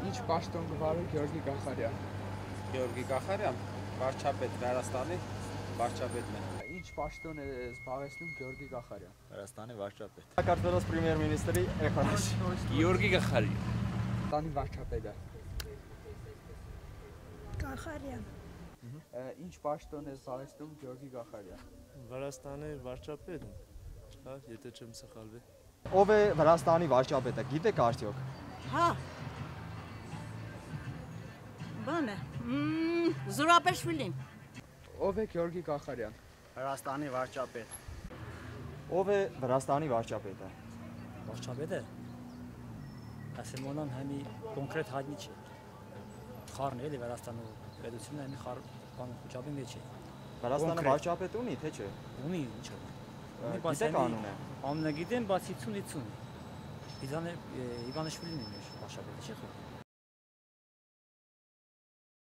Ինչ պաշտոն գվարի Գյորգի Գախարյան։ Գյորգի Գախարյան, վարչապետ Վրաստանի վարչապետն է։ Ինչ պաշտոն է զբաղեցնում Գյորգի Գախարյան։ Վրաստանի վարչապետ։ Հակարդվելոց պրեմիեր-մինիստրի էխանիշ։ Գյորգի Գախարյան։ Տանի վարչապետը։ Գախարյան։ Ինչ պաշտոն է զբաղեցնում Գյորգի Գախարյան։ Վրաստանի վարչապետն, հա, եթե չեմ սխալվի։ Ով է Վրաստանի վարչապետը, գիտեք արդյոք։ Հա։ Բանը։ Զուրապեշվիլին։ Ով է Գյորգի Գախարյան։ Վրաստանի վարչապետ։ Ով է Վրաստանի վարչապետը։ Վարչապետը ասեմոնան համի կոնկրետ հայտնի չէ։ Խառն էլի Վրաստանի պետությունը համի խառ բան խոչապի մեջ է։ Վրաստանը վարչապետ ունի, թե չէ։ Ունի ինչ է։ Գիտեք անունը։ Անունը գիտեմ, բացի 50-50։ Իվանեշվիլին է մեր վարչապետը, չէ՞ խո։